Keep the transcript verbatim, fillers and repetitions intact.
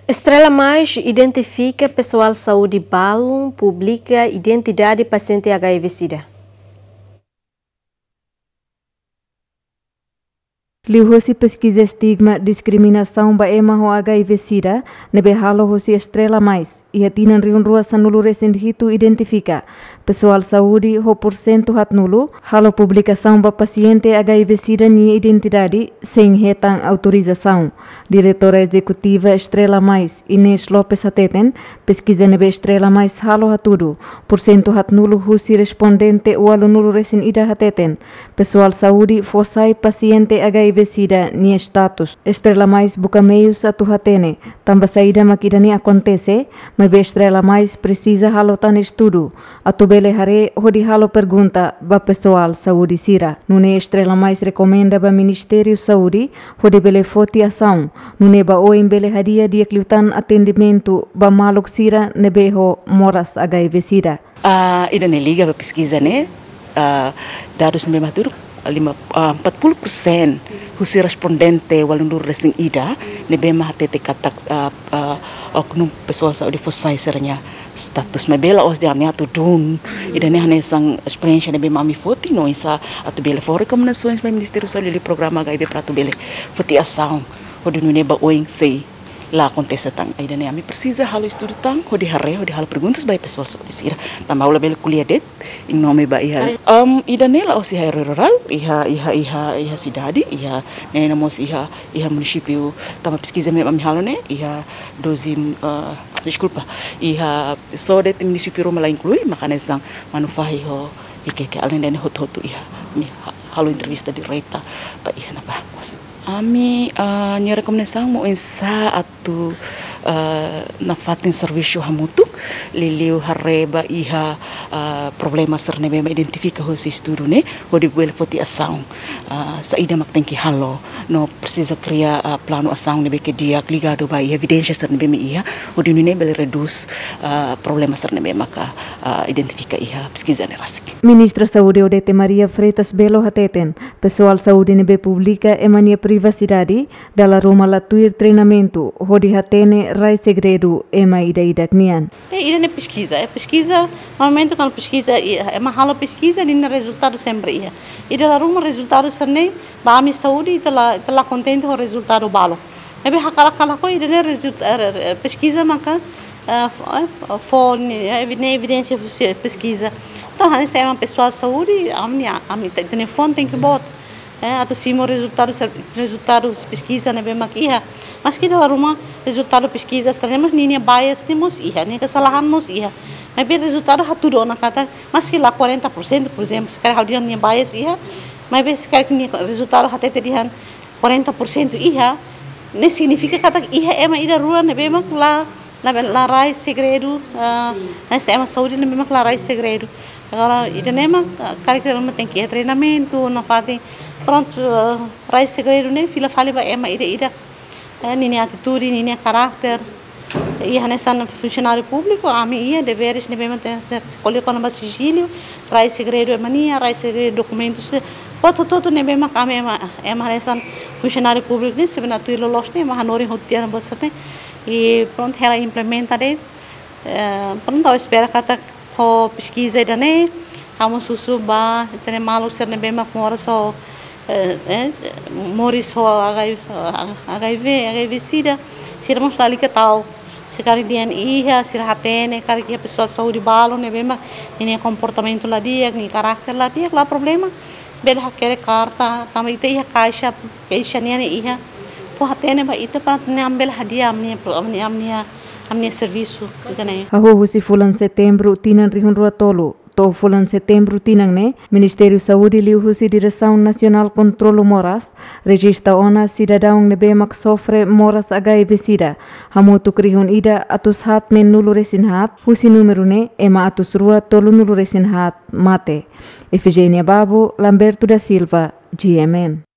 Estrela Mais identifika pesoál saúde balun, publika identidade pasiente H I V sida. Liuhusi peskiza estigma diskriminasaun ba ema ho H I V sida ne'ebé halo husi Estrela Mais, iha tinan rihun rua sanulu resin hitu identifika pesoál saúde ho pursentu haatnulu halo publikasaun ba pasiente H I V sida nia identidade sein hetan autorizasaun. Diretora Ezekutiva Estrela Mais, Inês Lopes hateten, peskiza ne'ebé Estrela Mais halo hatudu, pursentu haatnulu husi respondente ualunulu resin ida hateten pesoál saúde fó sai pasiente H I V sida nia status. Estrela Mais buka meius atu hatene tanba saida mak ida-ne'e akontese, maibé Estrela Mais presiza halo tan estudu atu bele haree hodi halo pergunta ba pesoál saúde sira. Nune'e Estrela Mais rekomenda ba Ministériu Saúde hodi bele foti asaun, nune'e ba oin bele hadi'a di'ak liután atendimentu ba maluk sira ne'ebé ho moras H I V sida. Ah, ida-ne'e liga ba peskiza ne'e, ah, dadus ne'ebé mak hatudu, lima, ah, empat puluh persen husi respondente ualunulu resin ida ne'ebé mak hatete katak, ah, ah, oknum pesoál saúde fó sai sira-nia status. Maibé la'ós dehan ami atu dun. Ida-ne'e hanesan esperiénsia ne'ebé mak ami foti no oinsá atu bele fó rekomendasoens ba Ministériu Saúde liu programa H I V para atu bele foti asaun hodi nune'e ba oin sei la akontese tan. Ida-ne'e ami presiza halo estudu tan, hodi haree, hodi halo perguntas ba pesoál saúde sira. Tanba ha'u labele ko'alia de'it, iha nome ba iha. Am, ida-ne'e la'ós iha área rurál, iha, iha, iha, iha sidade, iha, ne'e mós iha, iha munisípiu, tanba peskiza ne'ebé ami halo ne'e, iha doze, ah, deskulpa, iha só de'it munisípiu ruma la inklui, maka hanesan Manufahi ho Viqueque, alende ne'e hotu-hotu iha, ami ha-, halo entrevista direta ba iha ne'ebá mós. Ami, ah, nia rekomendasaun mak oinsá atu, ah, nafatin servisu hamutuk, liuliu haree ba iha, ah, problema sira ne'ebé mak identifika husi estudu ne'e, hodi bele foti asaun, ah, saida mak tenke halo, no presiza kria, ah, planu asaun ne'ebé ke di'ak ligadu ba iha evidénsia sira ne'ebé mak iha, hodi nune'e bele redús, ah, problema sira ne'ebé maka, ah, identifika iha peskiza ne'e rasik. Ministra Saúde Odete Maria Freitas Belo hateten, pesoál saúde ne'ebé publika ema nia privasidade, dala ruma la tuir treinamentu hodi hatene rai segredu ema ida-idak nian. Eh, ida-ne'e peskiza, eh, peskiza, normalmente kuandu peskiza, i, ema halo peskiza, ninia rezultadu sempre iha. I dala ruma rezultadu sira-ne'e, ba ami saúde, ita la, ita la kontente ho rezultadu balu. Ne'ebé hakarak ka lakohi, ida-ne'e rezult-, eh, eh, peskiza maka, eh, fó, eh, fó ni, eh, evi-, ne'e evidénsia husi peskiza. Entaun, hanesan ema pesoál saúde, ami, ami te-, telefone tenke boot. Eh, atu simu rezultadu ser-, rezultadu peskiza ne'ebé mak iha. Maski dala ruma rezultadu peskiza sira-ne'e mós ninia bias ne'e mós iha, ninia kesalahan mós iha. Maibé rezultadu hatudu ona katak, maski la quarenta por cento, por exemplo, se karik ha'u dehan nia bias iha, maibé se karik nia rezultadu hatete dehan quarenta por cento iha, ne'e signifika katak iha ema ida rua ne'ebé mak la, la, la rai segredu, ah, hanesan ema saúde ne'ebé mak la rai segredu. Agora, ida-ne'e mak, ah, karik ita mak tenke iha treinamentu, nafatin, prontu, ah, rai segredu ne'e fila fali ba ema ida-idak, eh, ninia atitude, ninia karakter. I hanesan funsionáriu públiku, ami iha deveres ne'ebé mak tenke, se, se ko'alia kona-ba sigíliu, rai segredu ema nian, rai segredu dokumentus, hotu-hotu ne'ebé mak ami ema, ema hanesan funsionáriu públiku ne'e, se bele atu loloos ne'e, ema hanorin hotu tiha ona buat sira-ne'e. I prontu, hela implementa de'it, eh, prontu, ha'u espera katak ho peskiza ida-ne'e, ha'u mós husu ba ita-nia maluk sira ne'ebé mak moras ho, eh, eh, moris ho H I V, H I V, H I V sida, sira mós lalika ta'uk. Se karik dehan iha, sira hatene, karik iha pesoál saúde balu ne'ebé mak ninia komportamentu la di'ak, ninia karakter la di'ak, la problema. Bele hakerek karta, tanba ita iha kaixa, keixa nian iha. Fó hatene ba ita para ita-nia bele hadi'a ami-nia pro-, ami-nia, ami-nia, ami-nia servisu, ita-nia. Hahú husi fulan Setembru tinan rihun rua tolu to'o fulan Setembru tinan ne'e, Ministériu Saúde liuhusi Diresaun Nasionál Kontrolu Moras rejista ona sidadaun ne'ebé mak sofre moras H I V sida hamutuk rihun ida atus haat neenulu resin haat, husi númeru ne'e ema atus rua tolunulu resin haat mate. Efigénia Babo, Lamberto da Silva, G M N.